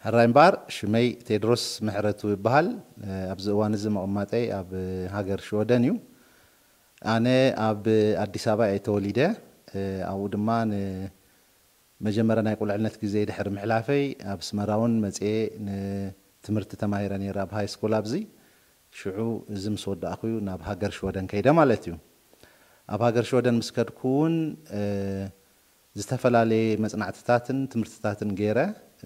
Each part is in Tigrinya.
ሕራይ እምበኣር፣ ሽመይ ቴድሮስ ምሕረቱ ይበሃል። ኣብዚ እዋን እዚ መቐማጠይ ኣብ ሃገር ሽወደን እዩ። ኣነ ኣብ ኣዲስ ኣበባ እየ ተወሊደ። ኣብኡ ድማ ንመጀመርያ ናይ ቁልዕነት ግዜ ድሕሪ ምሕላፈይ ኣብ ኣስመራ እውን መፅየ ንትምህርቲ ተማሂረ ነይረ ኣብ ሃይ ስኩል ኣብዚ። ሽዑ እዚ ምስ ወዳእኩ እዩ ናብ ሃገር ሽወደን ከይደ ማለት እዩ። ኣብ ሃገር ሽወደን ምስ ከድኩ እውን ዝተፈላለየ መጽናዕትታትን ትምህርትታትን ገይረ።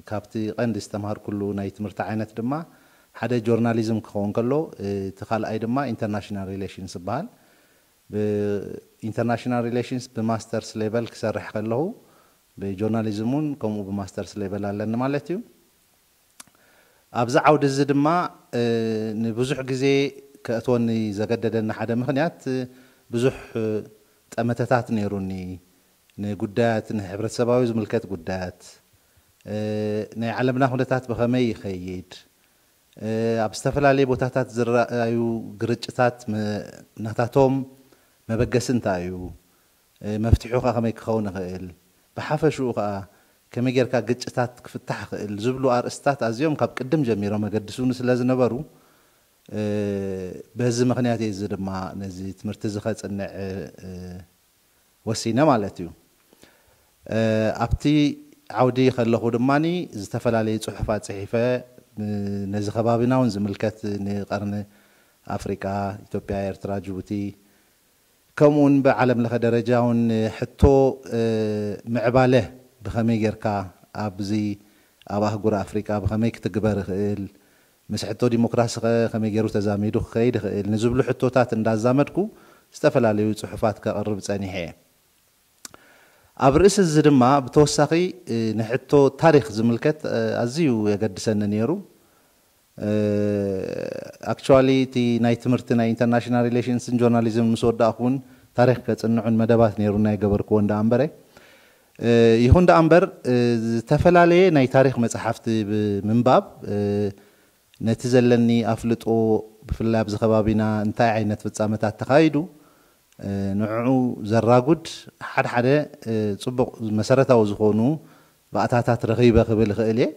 ካብቲ ቀንዲ ዝተምሃርኩሉ ናይ ትምህርቲ ዓይነት ድማ ሓደ ጆርናሊዝም ክኸውን ከሎ፣ እቲ ካልኣይ ድማ ኢንተርናሽናል ሪሌሽንስ ይበሃል። ብኢንተርናሽናል ሪሌሽንስ ብማስተርስ ሌቨል ክሰርሕ ከለኹ፣ ብጆርናሊዝም እውን ከምኡ ብማስተርስ ሌቨል ኣለኒ ማለት እዩ። ኣብዚ ዓውዲ እዚ ድማ ንብዙሕ ግዜ ከእትወኒ ዘገደደኒ ሓደ ምኽንያት፣ ብዙሕ ጠመተታት ነይሩኒ። ንጉዳያት ንሕብረተሰባዊ ዝምልከት ጉዳያት፣ ናይ ዓለምና ኩነታት ብኸመይ ይኸይድ፣ ኣብ ዝተፈላለየ ቦታታት ዝረኣዩ ግርጭታት ናታቶም መበገሲ እንታይ እዩ፣ መፍትሑ ከ ከመይ ክኸውን ይኽእል፣ ብሓፈሽኡ ከኣ ከመይ ጌርካ ግጭታት ክፍታሕ ይኽእል ዝብሉ ኣርእስታት ኣዝዮም ካብ ቅድም ጀሚሮም መገድሱኒ ስለ ዝነበሩ፣ በዚ ምኽንያት እዚ ድማ ነዚ ትምህርቲ እዚ ከጽንዕ ወሲነ ማለት እዩ። ኣብቲ ዓውዲ ከለኹ ድማ ዝተፈላለዩ ጽሑፋት ጽሒፈ፣ ነዚ ከባቢና እውን ዝምልከት ንቀርኒ ኣፍሪቃ፣ ኢትዮጵያ፣ ኤርትራ፣ ጅቡቲ፣ ከምኡውን ብዓለም ለኸ ደረጃ እውን ሕቶ ምዕባለ ብኸመይ ጌርካ ኣብዚ ኣብ ኣህጉር ኣፍሪቃ ብኸመይ ክትግበር ይኽእል፣ ምስ ሕቶ ዲሞክራሲ ኸ ከመይ ገይሩ ተዛሚዱ ክኸይድ ይኽእል ንዝብሉ ሕቶታት እንዳዛመድኩ ዝተፈላለዩ ጽሑፋት ከቕርብ ጸኒሐ እየ። ኣብ ርእሲ እዚ ድማ ብተወሳኺ ንሕቶ ታሪኽ ዝምልከት ኣዝዩ የገድሰኒ ነይሩ። ኣክቹዋሊ እቲ ናይ ትምህርቲ ናይ ኢንተርናሽናል ሪሌሽንስን ጆርናሊዝም ምስ ወዳእኩ እውን ታሪኽ ከጽንዑን መደባት ነይሩ ናይ ገበርክዎ እንዳ ኣንበረ። ይኹን ደኣ እምበር፣ ዝተፈላለየ ናይ ታሪኽ መጽሓፍቲ ብምንባብ፣ ነቲ ዘለኒ ኣፍልጦ፣ ብፍላይ ኣብዚ ከባቢና እንታይ ዓይነት ፍጻመታት ተኻይዱ፣ ንዕኡ ዘራጉድ ሓድሓደ ጽቡቕ መሰረታዊ ዝኾኑ ባእታታት ረኺበ ክብል እኽእል እየ።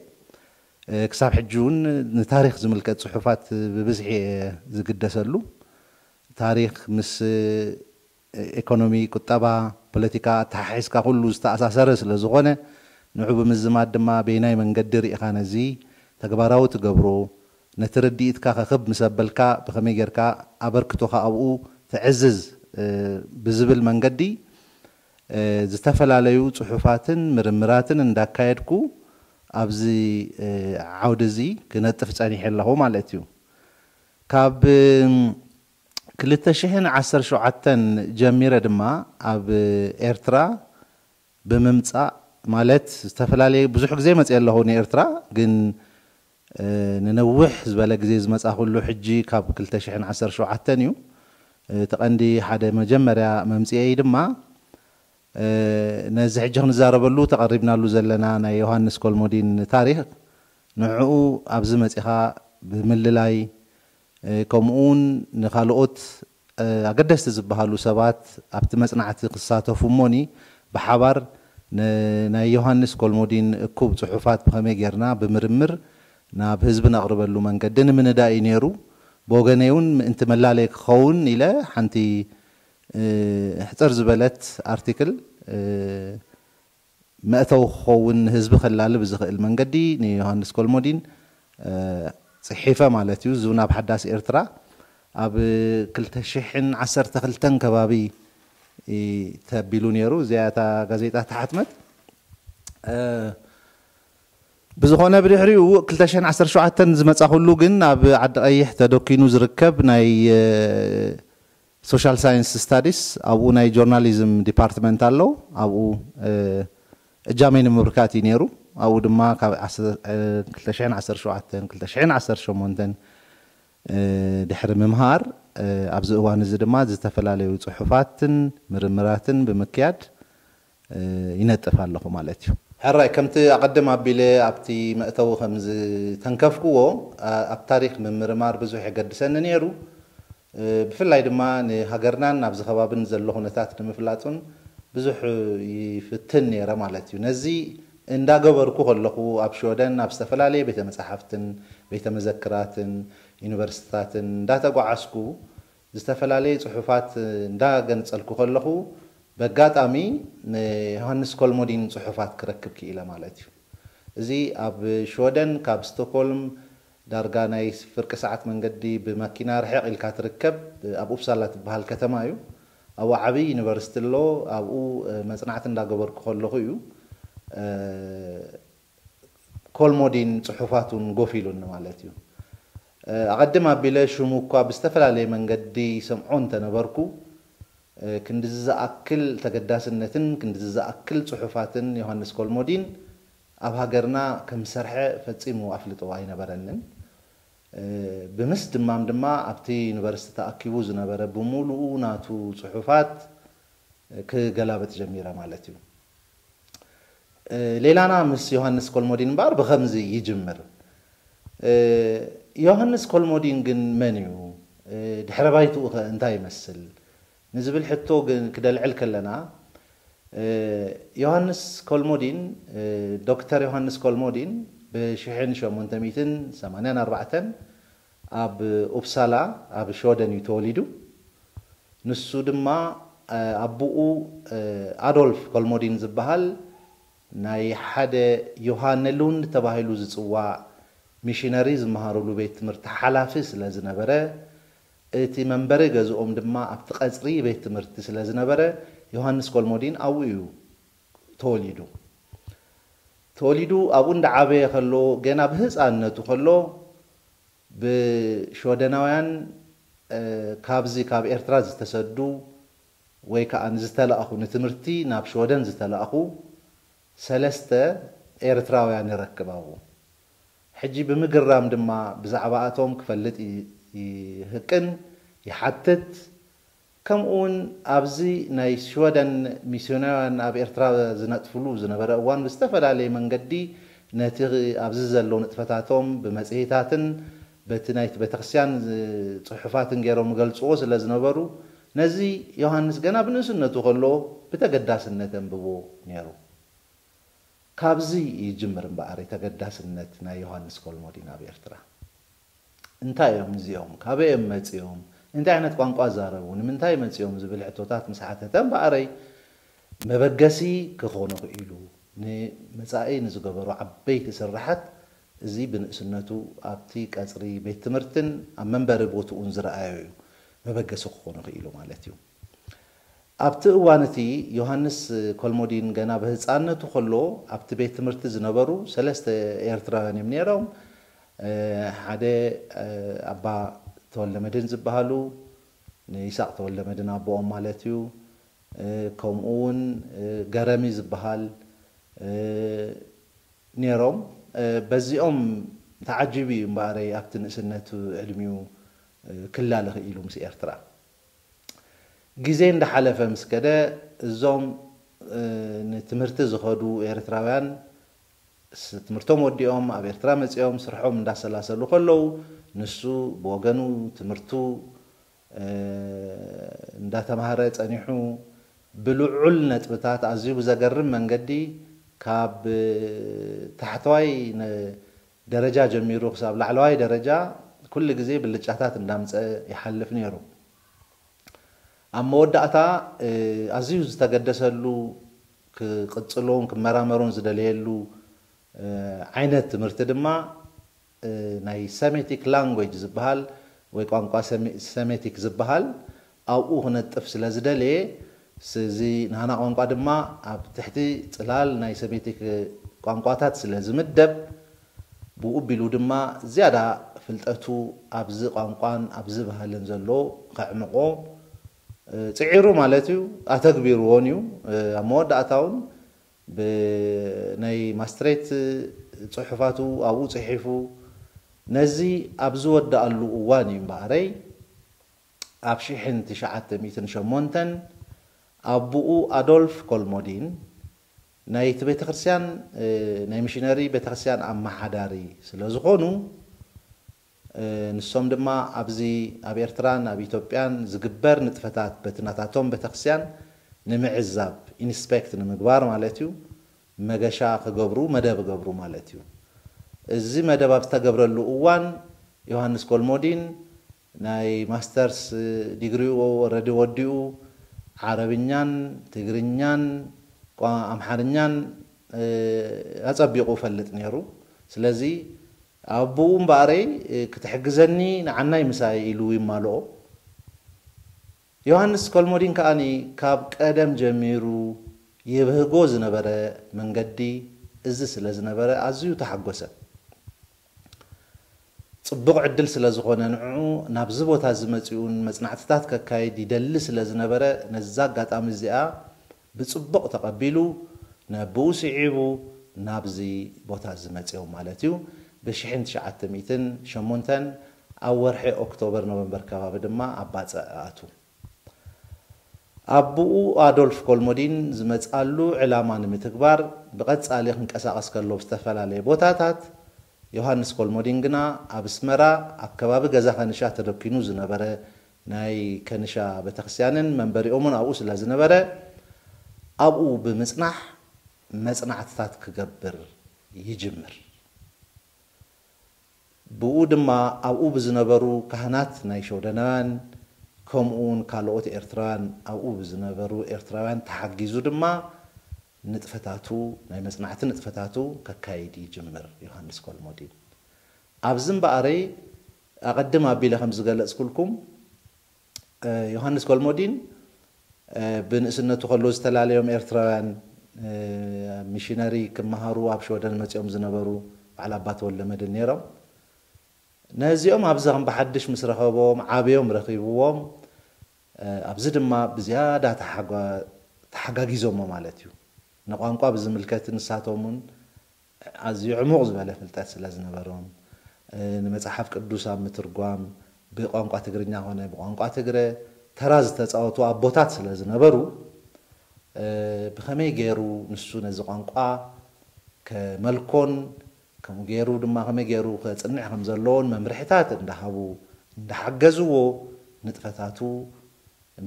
ክሳብ ሕጂ እውን ንታሪኽ ዝምልከት ጽሑፋት ብብዝሒ እየ ዝግደሰሉ። ታሪኽ ምስ ኢኮኖሚ፣ ቁጠባ፣ ፖለቲካ ኣተሓሒዝካ ኩሉ ዝተኣሳሰረ ስለ ዝኾነ፣ ንዑ ብምዝማድ ድማ በየናይ መንገዲ ርኢኻ ነዚ ተግባራዊ ትገብሮ፣ ነቲ ርድኢትካ ከክብ ምስ ኣበልካ ብኸመይ ጌርካ ኣበርክቶኻ ኣብኡ ተዕዝዝ ብዝብል መንገዲ፣ ዝተፈላለዩ ጽሑፋትን ምርምራትን እንዳካየድኩ ኣብዚ ዓውዲ እዚ ክነጥፍ ጸኒሐ ኣለኹ ማለት እዩ። ካብ ክልተ ሽሕን ዓሰርተ ሸውዓተን ጀሚረ ድማ ኣብ ኤርትራ ብምምጻእ፣ ማለት ዝተፈላለየ ብዙሕ ግዜ መጽየ ኣለኹ ንኤርትራ፣ ግን ንነዊሕ ዝበለ ግዜ ዝመጻኹሉ ሕጂ ካብ ክልተ ሽሕን ዓሰርተ ሸውዓተን እዩ። እቲ ቀንዲ ሓደ መጀመርያ መምጽኤይ ድማ ነዚ ሕጂ ክንዛረበሉ ተቐሪብናሉ ዘለና ናይ ዮሃንስ ኮልሞዲን ታሪኽ፣ ንዕኡ ኣብዚ መጺኻ ብምልላይ፣ ከምኡውን ንኻልኦት ኣገደስቲ ዝበሃሉ ሰባት ኣብቲ መጽናዕቲ ክሳተፉ እሞኒ፣ ብሓባር ናይ ዮሃንስ ኮልሞዲን እኩብ ጽሑፋት ብኸመይ ጌርና ብምርምር ናብ ህዝቢ ነቕርበሉ መንገዲ ንምንዳእ እዩ ነይሩ። ብወገነይ እውን ምእንቲ መላለይ ክኸውን ኢለ ሓንቲ ሕጽር ዝበለት ኣርቲክል መእተዊ ክኸውን ንህዝቢ ከላልብ ዝኽእል መንገዲ ንዮሃንስ ኮልሞዲን ጽሒፈ ማለት እዩ። ዝውን ኣብ ሓዳስ ኤርትራ ኣብ ክልተ ሽሕን ዓሰርተ ክልተን ከባቢ ተቢሉ ነይሩ። እዚኣ እታ ጋዜጣ ተሓትመት። ብዝኾነ ብድሕሪኡ ክልተ ሽሕን ዓሰርተ ሸውዓተን ዝመጻኹሉ ግን ኣብ ዓዲ ቀይሕ ተደኪኑ ዝርከብ ናይ ሶሻል ሳይንስ ስታዲስ፣ ኣብኡ ናይ ጆርናሊዝም ዲፓርትመንት ኣሎ። ኣብኡ እጃመይ ንምብርካት እዩ ነይሩ። ኣብኡ ድማ ካብ ክልተ ሽሕን ዓሰርተ ሸውዓተን ክልተ ሽሕን ዓሰርተ ሸሞንተን ድሕሪ ምምሃር፣ ኣብዚ እዋን እዚ ድማ ዝተፈላለዩ ጽሑፋትን ምርምራትን ብምክያድ ይነጥፍ ኣለኹ ማለት እዩ። ሕራይ፣ ከምቲ ኣቐድም ኣቢለ ኣብቲ መእተዊ ከም ዝተንከፍክዎ፣ ኣብ ታሪኽ ምምርማር ብዙሕ የገድሰኒ ነይሩ። ብፍላይ ድማ ንሃገርናን ኣብዚ ከባብን ዘሎ ኩነታት ንምፍላጥ እውን ብዙሕ ይፍትን ነይረ ማለት እዩ። ነዚ እንዳገበርኩ ከለኹ፣ ኣብ ሽወደን ኣብ ዝተፈላለየ ቤተ መጻሕፍትን ቤተ መዘክራትን ዩኒቨርሲቲታትን እንዳተጓዓዝኩ፣ ዝተፈላለየ ጽሑፋት እንዳገንጸልኩ ከለኹ፣ በጋጣሚ ንዮሃንስ ኮልሞዲን ጽሑፋት ክረክብ ክኢለ ማለት እዩ። እዚ ኣብ ሽወደን ካብ ስቶክሆልም ዳርጋ ናይ ፍርቂ ሰዓት መንገዲ ብመኪና ርሕቕ ኢልካ ትርከብ፣ ኣብ ኡፕሳላ ትበሃል ከተማ እዩ። ኣብኡ ዓብዪ ዩኒቨርሲቲ ኣሎ። ኣብኡ መጽናዕቲ እንዳገበርኩ ከለኹ እዩ ኮልሞዲን ጽሑፋቱን ጎፊሉኒ ማለት እዩ። ኣቐድም ኣቢለ ሽሙ እኳ ብዝተፈላለየ መንገዲ ይሰምዖ እንተነበርኩ፣ ክንድዚ ዝኣክል ተገዳስነትን ክንድዚ ዝኣክል ጽሑፋትን ዮሃንስ ኮልሞዲን ኣብ ሃገርና ከም ዝሰርሐ ፈጺሙ ኣፍልጦ ኣይነበረንን። ብምስድማም ድማ ኣብቲ ዩኒቨርሲቲ ተኣኪቡ ዝነበረ ብምሉኡ ናቱ ጽሑፋት ክገላበጥ ጀሚረ ማለት እዩ። ሌላና ምስ ዮሃንስ ኮልሞዲን እምበኣር ብኸምዚ ይጅምር። ዮሃንስ ኮልሞዲን ግን መን እዩ? ድሕረ ባይትኡ ኸ እንታይ ይመስል? ንዝብል ሕቶ ግን ክደልዕል ከለና፣ ዮሃንስ ኮልሞዲን፣ ዶክተር ዮሃንስ ኮልሞዲን ብ ሽሕን ሸሞንተ ሚእትን ሰማንያን ኣርባዕተን ኣብ ኡፕሳላ ኣብ ሽወደን እዩ ተወሊዱ። ንሱ ድማ ኣቦኡ ኣዶልፍ ኮልሞዲን ዝበሃል ናይ ሓደ ዮሃነ ሉንድ ተባሂሉ ዝጽዋዕ ሚሽነሪ ዝመሃረሉ ቤት ትምህርቲ ሓላፊ ስለ ዝነበረ፣ እቲ መንበሪ ገዝኦም ድማ ኣብቲ ቀጽሪ ቤት ትምህርቲ ስለ ዝነበረ፣ ዮሃንስ ኮልሞዲን ኣብኡ እዩ ተወሊዱ። ተወሊዱ ኣብኡ እንዳዓበየ ከሎ፣ ገና ብህፃንነቱ ከሎ፣ ብሽወደናውያን፣ እ፣ ካብዚ ካብ ኤርትራ ዝተሰዱ ወይ ከዓ ዝተላእኹ፣ ንትምህርቲ ናብ ሽወደን ዝተላእኹ ሰለስተ ኤርትራውያን ይረክብ ኣብኡ። ሕጂ ብምግራም ድማ ብዛዕባኣቶም ክፈልጥ ይ-፣ ይህቅን ይሓትት። ከምኡ እውን ኣብዚ ናይ ሽወደን ሚስዮናውያን ኣብ ኤርትራ ዝነጥፍሉ ዝነበረ እዋን ብዝተፈላለየ መንገዲ ነቲ ኣብዚ ዘሎ ንጥፈታቶም ብመጽሔታትን በቲ ናይቲ ቤተክርስትያን ዝ-፣ ጽሑፋትን ገይሮም ይገልጽዎ ስለ ዝነበሩ ነዚ ዮሃንስ ገና ብንእስነቱ ከሎ ብተገዳስነት የንብቦ ነይሩ። ካብዚ ይጅምር እምበኣር ተገዳስነት ናይ ዮሃንስ ኮልሞዲን ኣብ ኤርትራ። እንታይ እዮም እዚኦም? ካበይ እዮም መጺኦም? እንታይ ዓይነት ቋንቋ ዛረቡ? ንምንታይ መጺኦም? ዝብል ሕቶታት ምስ ሓተተ እምበኣረይ መበገሲ ክኾኖ ክኢሉ። ንመጻኢ ንዝገበሩ ዓበይቲ ስራሓት እዚ ብንእስነቱ ኣብቲ ቀጽሪ ቤት ትምህርትን ኣብ መንበሪ ቦትኡን ዝረኣዮ እዩ መበገሲ ክኾኖ ክኢሉ ማለት እዩ። ኣብቲ እዋን እቲ ዮሃንስ ኮልሞዲን ገና ብህፃንነቱ ከሎ ኣብቲ ቤት ትምህርቲ ዝነበሩ ሰለስተ ኤርትራውያን እዮም ነይሮም። እ፣ ሓደ፣ እ፣ ኣባ ተወልደ መድህን ዝበሃሉ፣ ንይስሐቅ ተወልደ መድህን ኣቦኦም ማለት እዩ። እ፣ ከምኡ እውን፣ እ፣ ገረሚ ዝበሃል፣ እ፣ ነይሮም። እ፣ በዚኦም ተዓጂቡ እዩ እምበኣረይ ኣብቲ ንእስነት ዕድሚኡ፣ እ፣ ክላለ ክኢሉ ምስ ኤርትራ። ግዜ እንዳሓለፈ ምስ ከደ እዞም፣ እ፣ ንትምህርቲ ዝኸዱ ኤርትራውያን ስ-፣ ትምህርቶም ወዲኦም ኣብ ኤርትራ መጺኦም ስርሖም እንዳሰላሰሉ ከለዉ ንሱ ብወገኑ ትምህርቱ፣ እ፣ እንዳተማህረ ጸኒሑ ብልዑል ነጥብታት ኣዝዩ ብዘገርም መንገዲ ካብ ታሕተዋይ ነ-፣ ደረጃ ጀሚሩ ክሳብ ላዕለዋይ ደረጃ ኩሉ ግዜ ብልጫታት እንዳምጸ ይሓልፍ ነይሩ። ኣብ መወዳእታ፣ እ፣ ኣዝዩ ዝተገደሰሉ ክቕጽሎን ክመራመሮን ዝደለየሉ፣ እ፣ ዓይነት ትምህርቲ ድማ፣ እ፣ ናይ ሰሜቲክ ላንጉጅ ዝበሃል ወይ ቋንቋ ሰሜ-፣ ሰሜቲክ ዝበሃል ኣብኡ ክነጥፍ ስለ ዝደለየ፣ ስ-፣ እዚ ናህና ቋንቋ ድማ ኣብ ትሕቲ ጽላል ናይ ሰሜቲክ ቋንቋታት ስለ ዝምደብ፣ ብኡ ኣቢሉ ድማ ዝያዳ ፍልጠቱ ኣብዚ ቋንቋን ኣብዚ ባህልን ዘሎ ከዕምቆ፣ እ፣ ጽዒሩ ማለት እዩ፣ ኣተግቢርዎን እዩ። እ፣ ኣብ መወዳእታ እውን ብ-፣ ናይ ማስትሬት ጽሑፋቱ ኣብኡ ጽሒፉ፣ ነዚ ኣብ ዝወድኣሉ እዋን እዩ እምበኣረይ፣ ኣብ ሽሕን ትሽዓተ ሚእትን ሸሞንተን ኣቦኡ ኣዶልፍ ኮልሞዲን ናይቲ ቤተክርስትያን፣ እ፣ ናይ ሚሽነሪ ቤተክርስትያን ኣመሓዳሪ ስለ ዝኾኑ፣ እ፣ ንሶም ድማ ኣብዚ ኣብ ኤርትራን ኣብ ኢትዮጵያን ዝግበር ንጥፈታት በቲ ናታቶም ቤተክርስትያን ንምዕዛብ፣ ኢንስፔክት ንምግባር ማለት እዩ፣ መገሻ ክገብሩ መደብ ገብሩ ማለት እዩ። እዚ መደብ ኣብ ዝተገብረሉ እዋን ዮሃንስ ኮልሞዲን ናይ ማስተርስ ዲግሪኡ ወረዲ ወዲኡ ዓረብኛን ትግርኛን ቋ- ኣምሓርኛን ኣጸቢቑ ፈልጥ ነይሩ። ስለዚ ኣቦኡ እምበኣረይ ክትሕግዘኒ ንዓናይ ምሳይ ኢሉ ይማልኦ። ዮሃንስ ኮልሞዲን ከኣ ካብ ቀደም ጀሚሩ ይብህጎ ዝነበረ መንገዲ እዚ ስለ ዝነበረ ኣዝዩ ተሓጎሰ። ጽቡቕ ዕድል ስለ ዝኾነ ንዕኡ ናብዚ ቦታ እዚ መጺኡን መጽናዕትታት ከካይድ ይደሊ ስለ ዝነበረ ነዛ ኣጋጣሚ እዚኣ ብጽቡቕ ተቐቢሉ ነብኡ ስዒቡ ናብዚ ቦታ እዚ መጺኦም ማለት እዩ። ብ1908 ኣብ ወርሒ ኦክቶበር ኖቨምበር ከባቢ ድማ ኣብ ባጽዕ ኣቱ። ኣቦኡ ኣዶልፍ ኮልሞዲን ዝመጽኣሉ ዕላማ ንምትግባር ብቐጻሊ ክንቀሳቐስ ከሎ ብዝተፈላለየ ቦታታት ዮሃንስ ኮልሞዲን ግና ኣብ ኣስመራ ኣብ ከባቢ ገዛ ከንሻ ተደኪኑ ዝነበረ ናይ ከንሻ ቤተክርስትያንን መንበሪኦምን ኣብኡ ስለ ዝነበረ ኣብኡ ብምጽናሕ መጽናዕትታት ክገብር ይጅምር። ብኡ ድማ ኣብኡ ብዝነበሩ ካህናት ናይ ሸወደናውያን ከምኡውን ካልኦት ኤርትራውያን ኣብኡ ብዝነበሩ ኤርትራውያን ተሓጊዙ ድማ ንጥፈታቱ ናይ መጽናዕቲ ንጥፈታቱ ከካይድ ይጅምር ዮሃንስ ኮልሞዲን። ኣብዚ እምበኣረይ ኣቐድም ኣቢለ ከም ዝገለጽኩልኩም ዮሃንስ ኮልሞዲን ብንእስነቱ ከሎ ዝተላለዮም ኤርትራውያን ሚሽነሪ ክመሃሩ ኣብ ሸወደን መጺኦም ዝነበሩ በዓል ኣባ ተወልደ መድህን ነይሮም። ነዚኦም ኣብዚ ከም ብሓድሽ ምስ ረኸቦም ዓብዮም ረኺብዎም ኣብዚ ድማ ብዝያዳ ተሓጋጊዞሞ ማለት እዩ። ንቋንቋ ብዝምልከት ንሳቶም እውን ኣዝዩ ዕሙቕ ዝበለ ፍልጠት ስለ ዝነበሮም ንመጽሓፍ ቅዱስ ኣብ ምትርጓም ብቋንቋ ትግርኛ ኮነ ብቋንቋ ትግረ ተራ ዝተጻወቱ ኣቦታት ስለ ዝነበሩ ብኸመይ ገይሩ ንሱ ነዚ ቋንቋ ከመልኮን ከምኡ ገይሩ ድማ ከመይ ገይሩ ከጽንዕ ከም ዘለዎን መምርሕታት እንዳሃቡ እንዳሓገዝዎ ንጥፈታቱ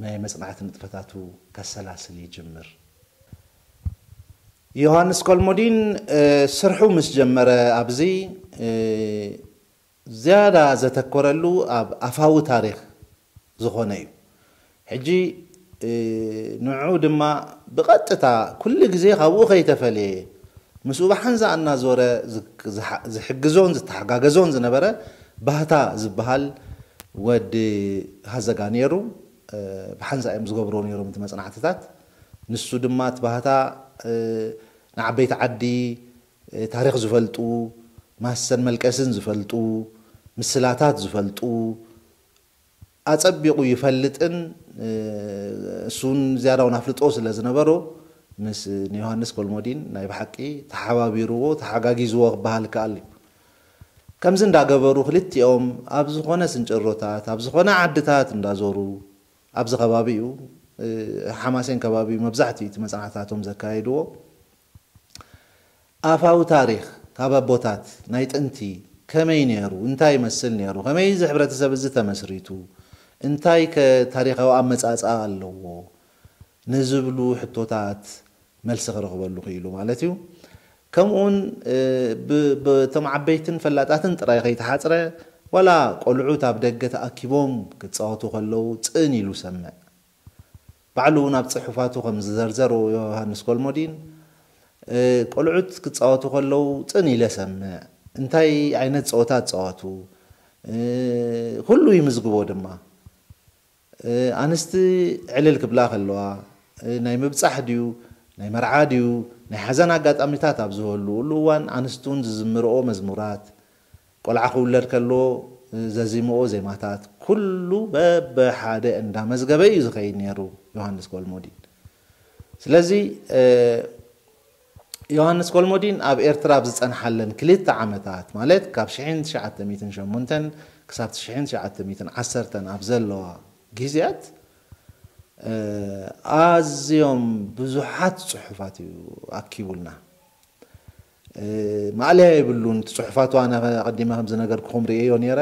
ናይ መጽናዕቲ ንጥፈታቱ ከሰላስል ይጅምር። ዮሃንስ ኮልሞዲን ስርሑ ምስ ጀመረ ኣብዚ ዝያዳ ዘተኮረሉ ኣብ ኣፋዊ ታሪኽ ዝኾነ እዩ። ሕጂ ንዑ ድማ ብቐጥታ ኩሉ ግዜ ካብኡ ከይተፈለየ ምስኡ ብሓንዛ እናዞረ ዝሕግዞን ዝተሓጋገዞን ዝነበረ ባህታ ዝበሃል ወዲ ሃዘጋ ነይሩ። ብሓንሳ እዮም ዝገብርዎ ነይሮም እቲ መጽናዕትታት። ንሱ ድማ እቲ ባህታ ንዓበይቲ ዓዲ ታሪኽ ዝፈልጡ፣ ማሰን መልቀስን ዝፈልጡ፣ ምስላታት ዝፈልጡ፣ ኣጸቢቑ ይፈልጥን እሱን ዝያዳውን ኣፍልጦ ስለ ዝነበሮ ምስ ንዮሃንስ ኮልሞዲን ናይ ብሓቂ ተሓባቢርዎ ተሓጋጊዝዎ ክበሃል ይከኣል እዩ። ከምዚ እንዳገበሩ ክልቲኦም ኣብ ዝኾነ ስንጭሮታት ኣብ ዝኾነ ዓድታት እንዳዞሩ ኣብዚ ከባቢ እዩ ሓማሴን ከባቢ እዩ መብዛሕትኡ እቲ መፅናዕታቶም ዘካየድዎ። ኣፋዊ ታሪኽ ካብ ኣቦታት ናይ ጥንቲ ከመይ ነይሩ፣ እንታይ ይመስል ነይሩ፣ ከመይ እዚ ሕብረተሰብ እዚ ተመስሪቱ፣ እንታይ ከ ታሪኻዊ ኣመጻጽኣ ኣለዎ ንዝብሉ ሕቶታት መልሲ ክረኽበሉ ክኢሉ ማለት እዩ። ከምኡውን ብቶም ዓበይትን ፈላጣትን ጥራይ ከይተሓፅረ ዋላ ቆልዑት ኣብ ደገ ተኣኪቦም ክፃወቱ ከለዉ ፅን ኢሉ ሰምዕ። ባዕሉ እውን ኣብ ፅሑፋቱ ከም ዝዘርዘሮ ዮሃንስ ኮልሞዲን ቆልዑት ክፃወቱ ከለዉ ፅን ኢለ ሰምዕ፣ እንታይ ዓይነት ፀወታ ትፃወቱ ኩሉ ይምዝግቦ ድማ። ኣንስቲ ዕልል ክብላ ከለዋ ናይ ምብፃሕ ድዩ ናይ መርዓ ድዩ ናይ ሓዘን ኣጋጣሚታት ኣብ ዝህልውሉ እዋን ኣንስቲ እውን ዝዝምርኦ መዝሙራት ቆልዓ ክውለድ ከሎ ዘዚምኦ ዜማታት ኩሉ በበሓደ እንዳመዝገበ እዩ ዝኸይድ ነይሩ ዮሃንስ ኮልሞዲን። ስለዚ ዮሃንስ ኮልሞዲን ኣብ ኤርትራ ኣብ ዝጸንሓለን ክልተ ዓመታት ማለት ካብ ሽሕን ትሽዓተ ሚእትን ሸሞንተን ክሳብ ሽሕን ትሽዓተ ሚእትን ዓሰርተን ኣብ ዘለዋ ግዜያት ኣዝዮም ብዙሓት ጽሑፋት እዩ ኣኪቡልና። ማእለያ የብሉን። እቲ ጽሑፋቱ ኣነ ኣቐዲመ ከም ዝነገርኩኹም ርእየዮ ነይረ።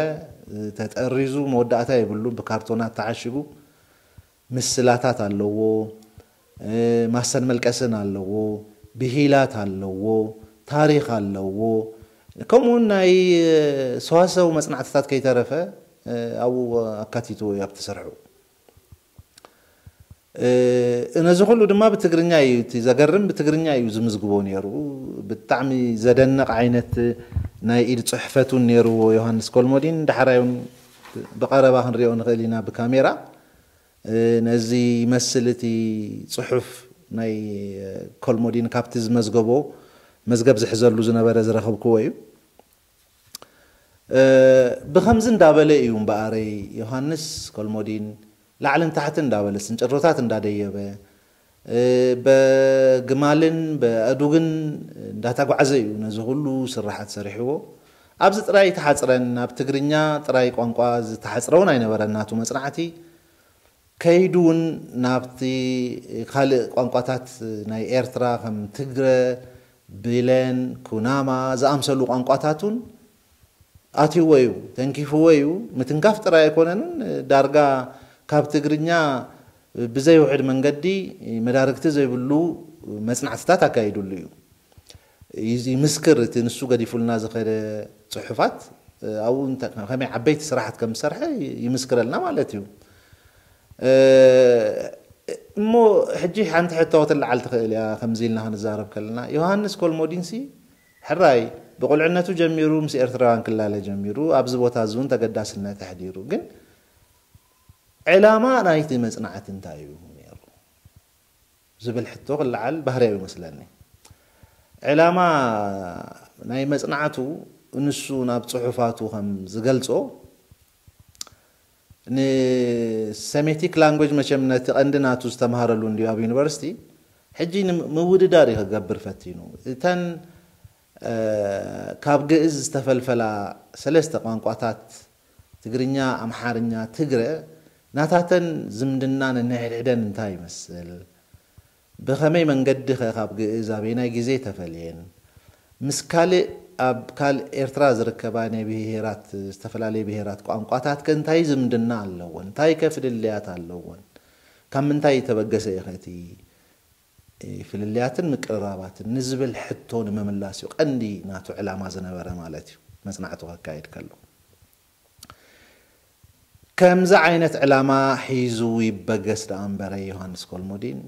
ተጠሪዙ መወዳእታ የብሉን። ብካርቶናት ተዓሽጉ ምስላታት ኣለዎ። ማሰን መልቀስን ኣለዎ። ብሂላት ኣለዎ፣ ታሪኽ ኣለዎ። ከምኡውን ናይ ሰዋሰው መጽናዕትታት ከይተረፈ ኣብኡ ኣካቲትዎ እዩ ኣብቲ ስርሑ። ነዚ ኩሉ ድማ ብትግርኛ እዩ፣ እቲ ዘገርም ብትግርኛ እዩ ዝምዝግቦ ነይሩ። ብጣዕሚ ዘደንቕ ዓይነት ናይ ኢድ ጽሕፈት እውን ነይርዎ ዮሃንስ ኮልሞዲን። ዳሕራይ እውን ብቐረባ ክንሪኦ ንኽእል ኢና ብካሜራ። ነዚ ይመስል እቲ ጽሑፍ ናይ ኮልሞዲን፣ ካብቲ ዝመዝገቦ መዝገብ ዝሕዘሉ ዝነበረ ዝረኸብክዎ እዩ። ብኸምዚ እንዳበለ እዩ እምበኣረይ ዮሃንስ ኮልሞዲን ላዕልን ታሕትን እንዳበለ፣ ስንጭሮታት እንዳደየበ፣ በግማልን በኣእዱግን እንዳተጓዕዘ እዩ ነዚ ኩሉ ስራሓት ሰሪሕዎ። ኣብዚ ጥራይ ተሓጽረን፣ ናብ ትግርኛ ጥራይ ቋንቋ ዝተሓጽረ እውን ኣይነበረን ናቱ መጽናዕቲ። ከይዱ እውን ናብቲ ካልእ ቋንቋታት ናይ ኤርትራ ከም ትግረ፣ ብለን፣ ኩናማ ዝኣምሰሉ ቋንቋታት እውን ኣትይዎ እዩ፣ ተንኪፍዎ እዩ። ምትንካፍ ጥራይ ኣይኮነን፣ ዳርጋ ካብ ትግርኛ ብዘይውሕድ መንገዲ መዳርግቲ ዘይብሉ መጽናዕትታት ኣካይዱሉ እዩ። ይምስክር፣ እቲ ንሱ ገዲፉልና ዝኸደ ጽሑፋት ኣብኡ ከመይ ዓበይቲ ስራሓት ከም ዝሰርሐ ይምስክረልና ማለት እዩ። እሞ ሕጂ ሓንቲ ሕቶ ክትለዓል ትኽእል እያ፣ ከምዚ ኢልና ክንዛረብ ከለና። ዮሃንስ ኮልሞዲንሲ ሕራይ ብቁልዕነቱ ጀሚሩ ምስ ኤርትራውያን ክላለ ጀሚሩ፣ ኣብዚ ቦታ እዚ እውን ተገዳስነት ኣሕዲሩ። ግን ዕላማ ናይቲ መጽናዕቲ እንታይ እዩ ነይሩ ዝብል ሕቶ ክለዓል ባህርያዊ ይመስለኒ። ዕላማ ናይ መጽናዕቱ፣ ንሱ ናብ ጽሑፋቱ ከም ዝገልጾ፣ ንሰሜቲክ ላንጉጅ፣ መቸም ነቲ ቀንዲ ናቱ ዝተምሃረሉ እንድዩ ኣብ ዩኒቨርሲቲ፣ ሕጂ ንምውድዳር እዩ ክገብር ፈቲኑ። እተን ካብ ግእዝ ዝተፈልፈላ ሰለስተ ቋንቋታት፣ ትግርኛ፣ ኣምሓርኛ፣ ትግረ፣ ናታተን ዝምድና ነንሕድሕደን እንታይ ይመስል? ብኸመይ መንገዲ ኸ ካብ ግእዝ ኣበየናይ ግዜ ተፈልየን? ምስ ካልእ፣ ኣብ ካልእ ኤርትራ ዝርከባ ናይ ብሄራት፣ ዝተፈላለየ ብሄራት ቋንቋታት ከ እንታይ ዝምድና ኣለወን? እንታይ ከ ፍልልያት ኣለወን? ካብ ምንታይ ተበገሰ እዩ ኸ እቲ ፍልልያትን ምቅርራባትን ንዝብል ሕቶ ንምምላስ እዩ ቀንዲ ናቱ ዕላማ ዝነበረ ማለት እዩ፣ መጽናዕቱ ከካይድ ከሎ። ከምዚ ዓይነት ዕላማ ሒዙ ይበገስ ደኣ እምበረ ዮሃንስ ኮልሞዲን፣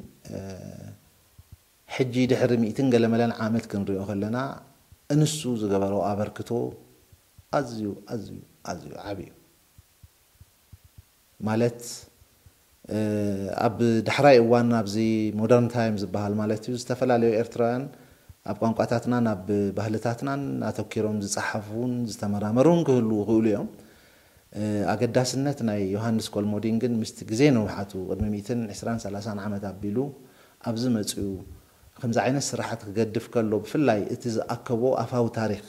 ሕጂ ድሕሪ ሚእትን ገለመለን ዓመት ክንሪኦ ከለና፣ እንሱ ዝገበሮ ኣበርክቶ ኣዝዩ፣ ኣዝዩ፣ ኣዝዩ ዓቢ እዩ። ማለት፣ ኣብ ዳሕራይ እዋን ኣብዚ ሞደርን ታይም ዝበሃል ማለት እዩ፣ ዝተፈላለዩ ኤርትራውያን ኣብ ቋንቋታትናን ኣብ ባህልታትናን ኣተኪሮም ዝጸሓፉን ዝተመራመሩን ክህልዉ ይኽእሉ እዮም። ኣገዳስነት ናይ ዮሃንስ ኮልሞዲን ግን ምስቲ ግዜ ንውሓቱ፣ ቅድሚ ሚእትን ዕስራን ሰላሳን ዓመት ኣቢሉ ኣብዚ መጺኡ ከምዚ ዓይነት ስራሓት ክገድፍ ከሎ፣ ብፍላይ እቲ ዝኣከቦ ኣፋዊ ታሪኽ፣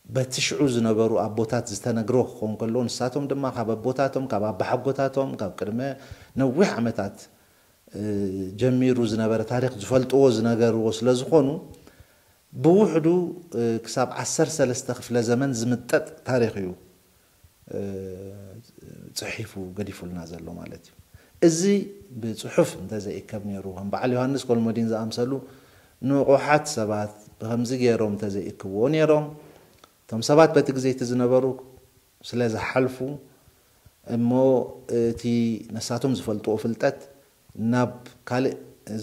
በቲ ሽዑ ዝነበሩ ኣቦታት ዝተነግሮ ክኸውን ከሎ፣ ንሳቶም ድማ ካብ ኣቦታቶም፣ ካብ ኣባሓጎታቶም፣ ካብ ቅድመ ነዊሕ ዓመታት፣ እ፣ ጀሚሩ ዝነበረ ታሪኽ ዝፈልጥዎ ዝነገርዎ ስለ ዝኾኑ፣ ብውሕዱ፣ እ፣ ክሳብ ዓሰርተ ሰለስተ ክፍለ ዘመን ዝምጠጥ ታሪኽ እዩ፣ እ፣ ጽሒፉ ገዲፉልና ዘሎ ማለት እዩ። እዚ ብጽሑፍ እንተዘይእከብ ነይሩ፣ ከም በዓል ዮሃንስ ኮልሞዲን ዝኣምሰሉ ንቑሓት ሰባት ብኸምዚ ገይሮም እንተዘይእክብዎ ነይሮም፣ እቶም ሰባት በቲ ግዜ እቲ ዝነበሩ ስለ ዝሓልፉ፣ እሞ እቲ ነሳቶም ዝፈልጥዎ ፍልጠት ናብ ካልእ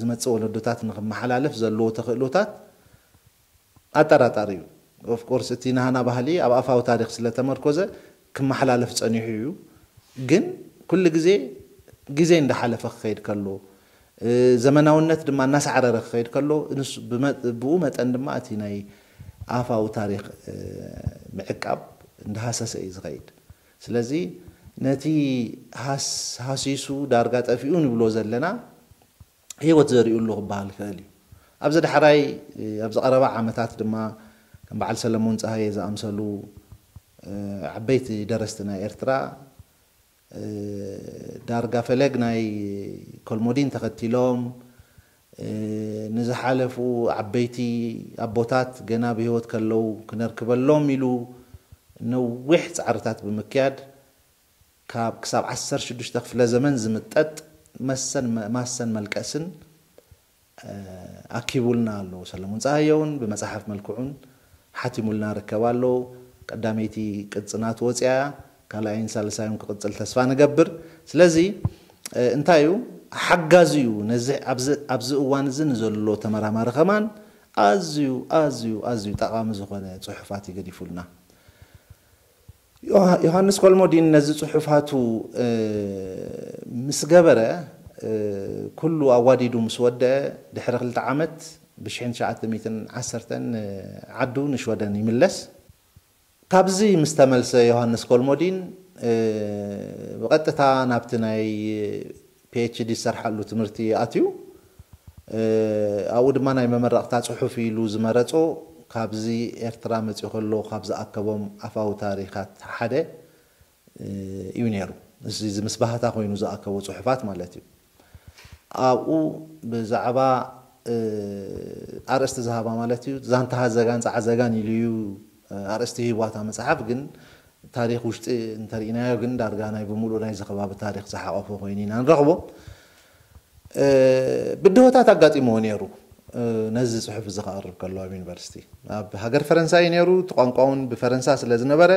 ዝመጽእ ወለዶታት ንኽመሓላለፍ ዘለዎ ተኽእሎታት ኣጠራጣሪ እዩ። ኦፍ ኮርስ፣ እቲ ናህና ባህሊ ኣብ ኣፋዊ ታሪኽ ስለ ተመርኮዘ ክመሓላለፍ ጸኒሑ እዩ። ግን ኩሉ ግዜ፣ ግዜ እንዳሓለፈ ክኸይድ ከሎ፣ እ፣ ዘመናውነት ድማ እናሳዕረረ ክኸይድ ከሎ፣ ንሱ ብመ-፣ ብኡ መጠን ድማ እቲ ናይ ኣፋዊ ታሪኽ፣ እ፣ ምዕቃብ እንዳሃሰሰ እዩ ዝኸይድ። ስለዚ ነቲ ሃስ-፣ ሃሲሱ ዳርጋ ጠፊኡ ንብሎ ዘለና ህይወት ዘሪኡሉ ክበሃል ይኽእል እዩ። ኣብዚ ዳሕራይ፣ እ፣ ኣብዚ ቀረባ ዓመታት ድማ ከም በዓል ሰለሞን ጸሃየ ዝኣምሰሉ፣ እ፣ ዓበይቲ ደረስቲ ናይ ኤርትራ፣ እ፣ ዳርጋ ፈለግ ናይ ኮልሞዲን ተኸቲሎም፣ እ፣ ንዝሓለፉ ዓበይቲ ኣቦታት ገና ብህይወት ከለዉ ክነርክበሎም ኢሉ ነዊሕ ጻዕርታት ብምክያድ፣ ካብ ክሳብ ዓሰርተ ሽዱሽተ ክፍለ ዘመን ዝምጠጥ መሰን፣ ማሰን መልቀስን ኣኪቡልና ኣሎ። ሰለሙን ፀሃየ እውን ብመፅሓፍ መልክዑን ሓቲሙልና ርከብ ኣሎ። ቀዳመይቲ ቅፅናት ወፅያ፣ ካልኣይን ሳልሳይን ክቕፅል ተስፋ ንገብር። ስለዚ እንታይ እዩ ሓጋዚ እዩ ነዚ ኣብዚ እዋን እዚ ንዘሎ ተመራማሪ ከማን ኣዝዩ ኣዝዩ ኣዝዩ ጠቓሚ ዝኾነ ፅሑፋት ይገዲፉልና። ዮሃንስ ኮልሞዲን ነዚ ፅሑፋቱ ምስ ገበረ፣ ኩሉ ኣዋዲዱ ምስ ወደአ፣ ድሕሪ ክልተ ዓመት ብ ትሽዓተ ሚእትን ዓሰርተን ዓዱ ንሽወደን ይምለስ። ካብዚ ምስ ተመልሰ ዮሃንስ ኮልሞዲን ብቐጥታ ናብቲ ናይ ፒኤችዲ ዝሰርሓሉ ትምህርቲ ኣትዩ። ኣብኡ ድማ ናይ መመረቕታ ፅሑፍ ኢሉ ዝመረፆ ካብዚ ኤርትራ መፂኡ ከሎ ካብ ዝኣከቦም ኣፋዊ ታሪኻት ሓደ እዩ ነይሩ። እዚ ምስ ባህታ ኮይኑ ዝኣከቦ ፅሑፋት ማለት እዩ። ኣብኡ ብዛዕባ ኣርእስቲ ዝሃባ ማለት እዩ፣ ዛንታ ሃዘጋን ፃዕዘጋን ኢሉ እዩ ኣርእስቲ ሂቧታ መፅሓፍ። ግን ታሪኽ ውሽጢ እንተርኢናዮ ግን ዳርጋ ናይ ብምሉእ ናይዚ ከባቢ ታሪኽ ዝሓቆፈ ኮይኑ ኢና ንረኽቦ። ብድሆታት ኣጋጢምዎ ነይሩ። ነዚ ፅሑፍ እዚ ክቐርብ ከሎ ኣብ ዩኒቨርሲቲ ኣብ ሃገር ፈረንሳ እዩ ነይሩ። እቲ ቋንቋ እውን ብፈረንሳ ስለ ዝነበረ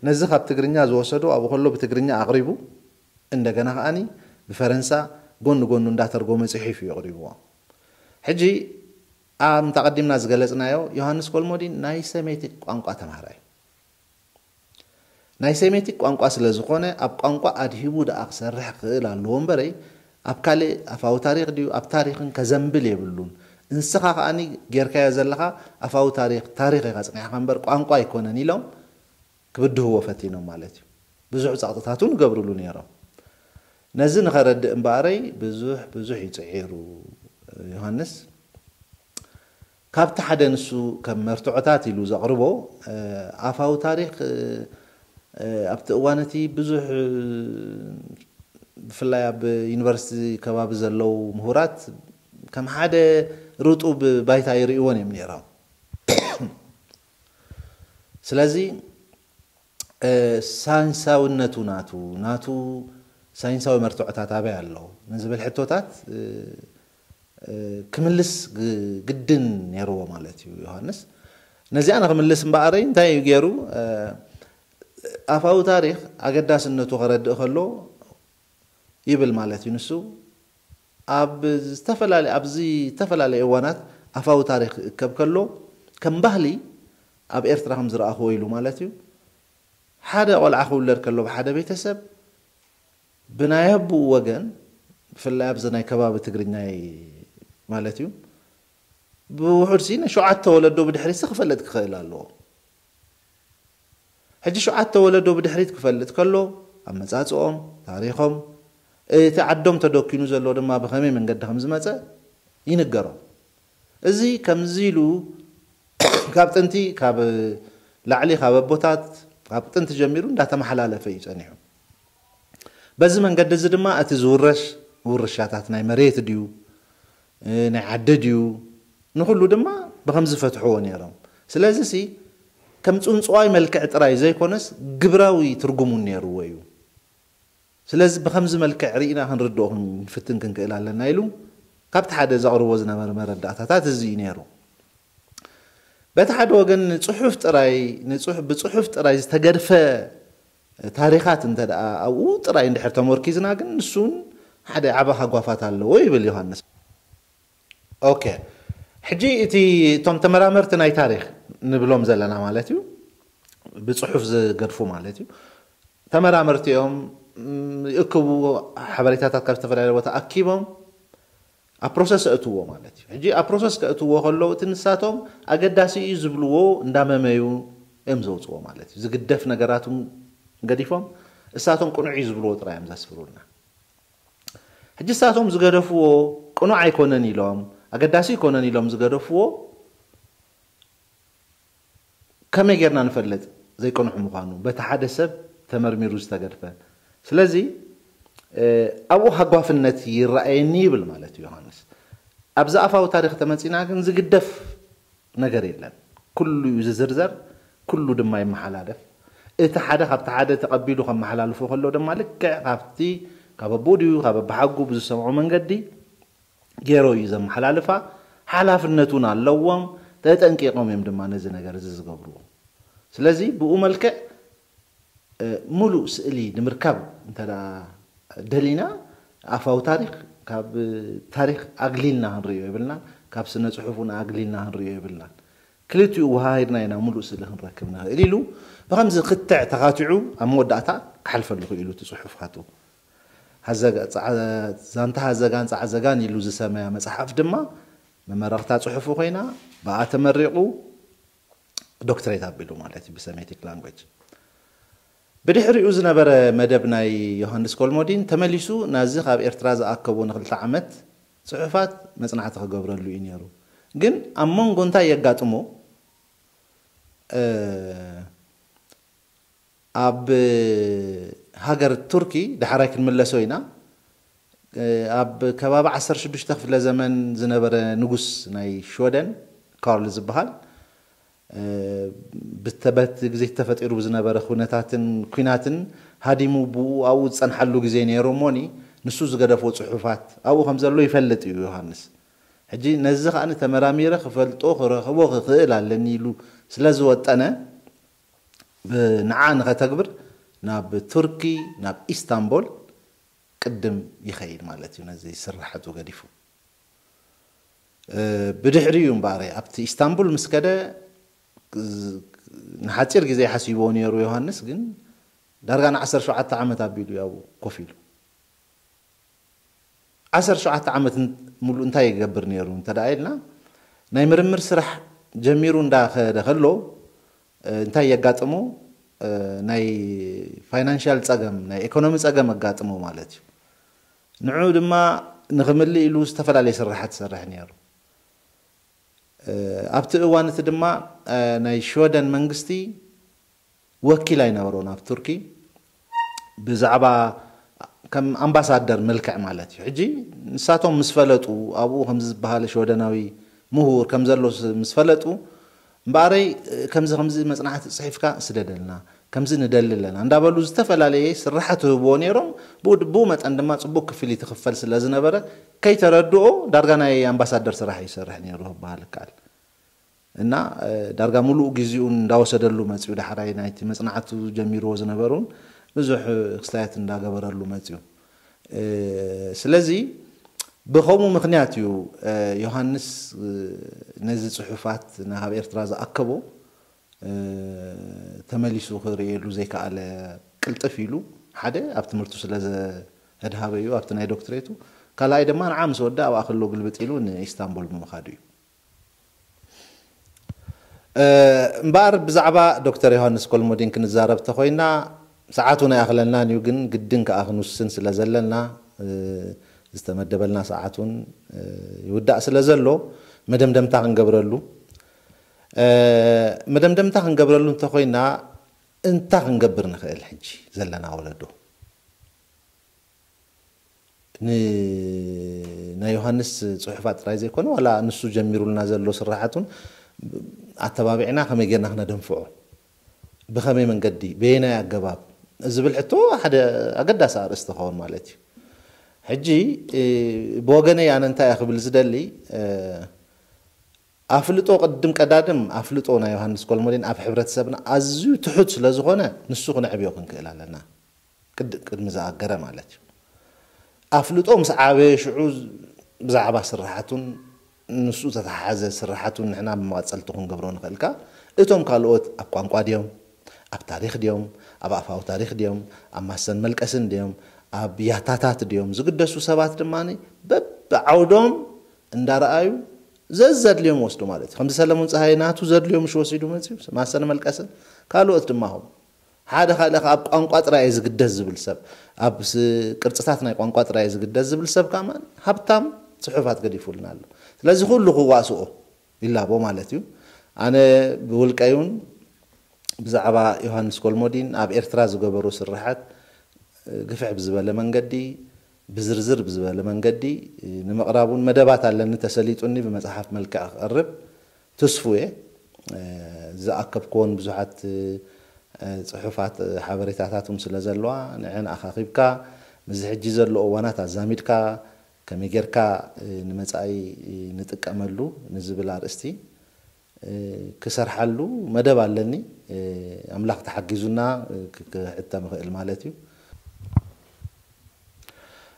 ነዚ ካብ ትግርኛ ዝወሰዶ ኣብኡ ከሎ ብትግርኛ ኣቕሪቡ እንደገና ከዓኒ ብፈረንሳ ጎኒ ጎኑ እንዳተርጎመ ፅሒፍ እዩ ኣቕሪብዎ። ሕጂ ኣምታ ቀዲምና ዝገለፅናዮ ዮሃንስ ኮልሞዲን ናይ ሴሜቲክ ቋንቋ ተምሃራይ ናይ ሴሜቲክ ቋንቋ ስለ ዝኾነ ኣብ ቋንቋ ኣድሂቡ ደኣ ክሰርሕ ክኽእል ኣለዎ እምበረይ ኣብ ካልእ ኣፋዊ ታሪኽ ድዩ ኣብ ታሪኽን ከዘንብል የብሉን። እንስኻ ከዓኒ ጌርካዮ ዘለኻ ኣፋዊ ታሪኽ ታሪኽ ኢኻ ጽኒሕኻ እምበር ቋንቋ ኣይኮነን ኢሎም ክብድህዎ ፈቲኖም ማለት እዩ። ብዙሕ ጸቕጥታት እውን ይገብርሉ ነይሮም። ነዚ ንኸረድእ እምበኣረይ ብዙሕ ብዙሕ ይጽዒሩ ዮሃንስ። ካብቲ ሓደ ንሱ ከም መርትዖታት ኢሉ ዘቕርቦ ኣፋዊ ታሪኽ ኣብቲ እዋን እቲ ብዙሕ ብፍላይ ኣብ ዩኒቨርሲቲ ከባቢ ዘለዉ ምሁራት ከም ሓደ ርጡብ ባይታ ይርእይዎን እዮም ነይሮም። ስለዚ ሳይንሳውነቱ ናቱ ናቱ ሳይንሳዊ መርትዖታት ኣበይ ኣሎ ንዝብል ሕቶታት ክምልስ ግድን ነይርዎ ማለት እዩ ዮሃንስ። ነዚኣ ንክምልስ እምበኣረይ እንታይ እዩ ገይሩ? ኣፋዊ ታሪኽ ኣገዳስነቱ ከረድእ ከሎ ይብል ማለት እዩ ንሱ። ኣብ ዝተፈላለዩ ኣብዚ ዝተፈላለዩ እዋናት ኣፋዊ ታሪኽ ክእከብ ከሎ ከም ባህሊ ኣብ ኤርትራ ከም ዝረኣኽዎ ኢሉ ማለት እዩ። ሓደ ቆልዓ ክውለድ ከሎ ብሓደ ቤተሰብ ብናይ ኣቦኡ ወገን ብፍላይ ኣብዚ ናይ ከባቢ ትግርኛይ ማለት እዩ ብውሑድ ሲ ሸውዓተ ወለዶ ብድሕሪት ክፈልጥ ክኽእል ኣለዎ። ሕጂ ሸውዓተ ወለዶ ብድሕሪት ክፈልጥ ከሎ ኣመፃፅኦም፣ ታሪኾም፣ እቲ ዓዶም ተደኪኑ ዘሎ ድማ ብኸመይ መንገዲ ከም ዝመፀ ይንገሮም። እዚ ከምዚ ኢሉ ካብ ጥንቲ ካብ ላዕሊ ካብ ኣቦታት ካብ ጥንቲ ጀሚሩ እንዳተመሓላለፈ እዩ ፀኒሑ። በዚ መንገዲ እዚ ድማ እቲ ዝውረሽ ውርሻታት ናይ መሬት ድዩ ናይ ዓዲ ድዩ ንኩሉ ድማ ብከም ዝፈትሕዎ ነይሮም። ስለዚ ሲ ከም ፅንፅዋይ መልክዕ ጥራይ ዘይኮነስ ግብራዊ ትርጉሙ ነይርዎ እዩ። ስለዚ ብከምዚ መልክዕ ርኢና ክንርድኦ ክንፍትን ክንክእል ኣለና ኢሉ ካብቲ ሓደ ዘቕርቦ ዝነበረ መረዳእታታት እዚ እዩ ነይሩ። በቲ ሓደ ወገን ንፅሑፍ ጥራይ ብፅሑፍ ጥራይ ዝተገድፈ ታሪኻት እንተ ደኣ ኣብኡ ጥራይ እንድሕር ተመርኪዝና ግን ንሱን ሓደ ዓቢ ሃጓፋት ኣለዎ ይብል ዮሃንስ። ኦኬ ሕጂ እቲ እቶም ተመራመርቲ ናይ ታሪኽ ንብሎም ዘለና ማለት እዩ ብፅሑፍ ዝገድፉ ማለት እዩ ተመራመርቲ እዮም ይእክቡ ሓበሬታታት ካብ ዝተፈላለየ ቦታ ኣኪቦም ኣብ ፕሮሰስ ኣእትዎ ማለት እዩ። ሕጂ ኣብ ፕሮሰስ ከእትዎ ከለዉ እቲ ንሳቶም ኣገዳሲ እዩ ዝብልዎ እንዳመመዩ እዮም ዘውፅዎ ማለት እዩ። ዝግደፍ ነገራቱም ገዲፎም እሳቶም ቅኑዕ እዩ ዝብልዎ ጥራይ እዮም ዘስፍሩልና። ሕጂ እሳቶም ዝገደፍዎ ቅኑዕ ኣይኮነን ኢሎም ኣገዳሲ ኣይኮነን ኢሎም ዝገደፍዎ ከመይ ጌርና ንፈልጥ ዘይቅኑዕ ምዃኑ በቲ ሓደ ሰብ ተመርሚሩ ዝተገድፈ? ስለዚ ኣብኡ ሃጓፍነት ይረኣየኒ ይብል ማለት እዩ ዮሃንስ። ኣብዚ ኣፋዊ ታሪኽ ተመፂና ግን ዝግደፍ ነገር የለን። ኩሉ እዩ ዝዝርዘር፣ ኩሉ ድማ ይመሓላለፍ። እቲ ሓደ ካብቲ ሓደ ተቐቢሉ ከመሓላልፎ ከሎ ድማ ልክዕ ካብቲ ካብ ኣቦኡ ድዩ ካብ ኣባሓጉ ብዝሰምዖ መንገዲ ገይሮ እዩ ዘመሓላልፋ። ሓላፍነት እውን ኣለዎም። ተጠንቂቖም እዮም ድማ ነዚ ነገር እዚ ዝገብርዎ። ስለዚ ብኡ መልክዕ ሙሉእ ስእሊ ንምርካብ እንተ ደሊና ኣፋዊ ታሪክ ካብ ታሪክ ኣግሊልና ክንርእዮ የብልናን፣ ካብ ስነ ፅሑፍ እውን ኣግሊልና ክንርእዮ የብልናን። ክልቲኡ ውሃሂድና ኢና ሙሉእ ስእሊ ክንረክብ ንኽእል ኢሉ ብከምዚ ክትዕ ተኻቲዑ ኣብ መወዳእታ ክሓልፈሉ ክኢሉ እቲ ፅሑፍ ካቱ ዛንታ ሃዘጋን ፃዕዘጋን ኢሉ ዝሰመያ መፅሓፍ ድማ መመረቕታ ፅሑፉ ኮይና ብኣ ተመሪቑ ዶክትሬት ኣቢሉ ማለት እዩ ብሰሜቲክ ላንጉጅ። ብድሕሪኡ ዝነበረ መደብ ናይ ዮሃንስ ኮልሞዲን ተመሊሱ ናዚ ካብ ኤርትራ ዝኣከቦ ንክልተ ዓመት ጽሑፋት መጽናዕቲ ክገብረሉ እዩ ነይሩ። ግን ኣብ መንጎ እንታይ የጋጥሞ ኣብ ሃገር ቱርኪ ዳሕራይ ክንምለሶ ኢና። ኣብ ከባቢ ዓሰርተ ሽዱሽተ ክፍለ ዘመን ዝነበረ ንጉስ ናይ ሽወደን ካርል ዝበሃል ብተበት ግዜ ተፈጢሩ ብዝነበረ ኩነታትን ኩናትን ሃዲሙ ብኡ ኣብኡ ዝጸንሓሉ ግዜ ነይሩ እሞኒ ንሱ ዝገደፎ ጽሑፋት ኣብኡ ከም ዘሎ ይፈልጥ እዩ ዮሃንስ። ሕጂ ነዚ ከኣ ተመራሚረ ክፈልጦ ክረኽቦ ክኽእል ኣለኒ ኢሉ ስለ ዝወጠነ ንዓ ንኸተግብር ናብ ቱርኪ ናብ ኢስታንቦል ቅድም ይኸይድ ማለት እዩ። ነዚ ስራሕቱ ገዲፉ ብድሕሪ እዩ እምበኣረ ኣብቲ ኢስታንቡል ምስ ከደ ንሓፂር ግዜ ሓሲቦ ነይሩ ዮሃንስ ግን ዳርጋ ን17 ዓመት ኣቢሉ ያው ኮፍ ኢሉ 17 ዓመት ሙሉእ እንታይ ይገብር ነይሩ እንተ ኢልና ናይ ምርምር ስራሕ ጀሚሩ እንዳኸደ ከሎ እንታይ የጋጥሞ ናይ ፋይናንሻል ፀገም ናይ ኢኮኖሚ ፀገም ኣጋጥሞ ማለት እዩ። ንዑ ድማ ንኽምልእ ኢሉ ዝተፈላለየ ስራሓት ይሰርሕ ነይሩ። ኣብቲ እዋን እቲ ድማ ናይ ሽወደን መንግስቲ ወኪል ኣይነበሮን ኣብ ቱርኪ ብዛዕባ ከም ኣምባሳደር መልክዕ ማለት እዩ። ሕጂ ንሳቶም ምስ ፈለጡ ኣብኡ ከም ዝበሃል ሽወደናዊ ምሁር ከም ዘሎ ምስ ፈለጡ እምበኣረይ ከምዚ ከምዚ መፅናዕቲ ፅሒፍካ ስደደልና ከምዚ ንደሊ ኣለና እንዳበሉ ዝተፈላለየ ስራሓት ህብዎ ነይሮም። ብኡ መጠን ድማ ፅቡቅ ክፍሊት ይኽፈል ስለ ዝነበረ ከይተረድኦ ዳርጋ ናይ ኣምባሳደር ስራሕ ይሰርሕ ነይሩ ክበሃል ይከኣል። እና ዳርጋ ሙሉእ ግዜኡ እንዳወሰደሉ መፅኡ ዳሕራይ ናይቲ መፅናዕቱ ጀሚርዎ ዝነበሩን ብዙሕ ክስታያት እንዳገበረሉ መፅኡ። ስለዚ ብኸምኡ ምኽንያት እዩ ዮሃንስ ነዚ ፅሑፋት ናብ ኤርትራ ዝኣከቦ ተመሊሱ ክርእየሉ ዘይከኣለ። ቅልጥፍ ኢሉ ሓደ ኣብ ትምህርቱ ስለ ዘድሃበ እዩ ኣብቲ ናይ ዶክትሬቱ። ካልኣይ ድማ ንዓ ምስ ወደ ኣብኣ ከሎ ግልብጥ ኢሉ ንኢስታንቡል ብምኻዱ እዩ። እምበኣር ብዛዕባ ዶክተር ዮሃንስ ኮልሞዲን ክንዛረብ ተኮይና ሰዓት እውን ኣይኣኽለናን እዩ፣ ግን ግድን ከኣ ክንውስን ስለ ዘለና ዝተመደበልና ሰዓት እውን ይውዳእ ስለ ዘሎ መደምደምታ ክንገብረሉ መደምደምታ ክንገብረሉ እንተኮይና እንታ ክንገብር ንኽእል ሕጂ ዘለና ወለዶ ናይ ዮሃንስ ፅሑፋት ጥራይ ዘይኮነ ዋላ ንሱ ጀሚሩልና ዘሎ ስራሓት እውን ኣተባቢዕና ከመይ ጌርና ክነደንፍዖ ብኸመይ መንገዲ በየናይ ኣገባብ ዝብል ሕቶ ሓደ ኣገዳሲ ኣርእስቲ ክኸውን ማለት እዩ። ሕጂ ብወገነይ ኣነ እንታይ እየ ክብል ዝደሊ ኣፍልጦ ቅድም ቀዳድም ኣፍልጦ ናይ ዮሃንስ ኮልሞዲን ኣብ ሕብረተሰብና ኣዝዩ ትሑት ስለ ዝኾነ ንሱ ክነዕብዮ ክንክእል ኣለና። ቅድሚ ዝኣገረ ማለት እዩ። ኣፍልጦ ምስ ዓበየ ሽዑ ብዛዕባ ስራሓቱን ንሱ ዝተተሓሓዘ ስራሓቱን ንሕና ብመቐፀልቱ ክንገብሮ ንኽእልካ እቶም ካልኦት ኣብ ቋንቋ ድዮም ኣብ ታሪክ ድዮም ኣብ ኣፋዊ ታሪክ ድዮም ኣብ ማሰን መልቀስን ድዮም ኣብ ያታታት ድዮም ዝግደሱ ሰባት ድማ በብዓውዶም እንዳረኣዩ ዘዘድልዮም ወስዱ ማለት እዩ። ከምዚ ሰለሙን ፀሃይ ናቱ ዘድልዮ ምሽ ወሲዱ መፅዩ ማሰን መልቀስን ካልኦት ድማ ኹም ሓደ ካልእ ኣብ ቋንቋ ጥራይ ዝግደስ ዝብል ሰብ ኣብ ቅርፅታት ናይ ቋንቋ ጥራይ ዝግደስ ዝብል ሰብ ከማን ሃብታም ፅሑፋት ገዲፉልና ኣሎ። ስለዚ ኩሉ ክዋስኦ ይላቦ ማለት እዩ። ኣነ ብውልቀይ እውን ብዛዕባ ዮሃንስ ኮልሞዲን ኣብ ኤርትራ ዝገበሮ ስርሓት ግፍሕ ብዝበለ መንገዲ ብዝርዝር ብዝበለ መንገዲ ንምቕራብ እውን መደባት ኣለኒ ተሰሊጡኒ ብመፅሓፍ መልክዕ ክቐርብ ትስፉ እየ። ዝኣከብክዎን ብዙሓት ፅሑፋት ሓበሬታታት እውን ስለ ዘለዋ ንዐን ኣኻኺብካ ምስዚ ሕጂ ዘሎ እዋናት ኣዛሚድካ ከመይ ጌርካ ንመጻኢ ንጥቀመሉ ንዝብል ኣርእስቲ ክሰርሓሉ መደብ ኣለኒ። ኣምላኽ ተሓጊዙና ክሕተም ይኽእል ማለት እዩ።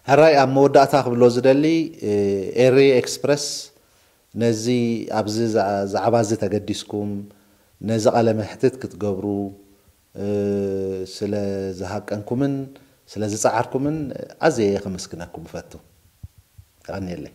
ሕራይ ኣብ መወዳእታ ክብሎ ዝደሊ ኤሪ ኤክስፕረስ ነዚ ኣብዚ ዛዕባ እዚ ተገዲስኩም ነዚ ቃለ መሕትት ክትገብሩ ስለ ዝሃቀንኩምን ስለ ዝጸዓርኩምን ኣዝየ ከመስግነኩም እፈቱ። የቐንየለይ።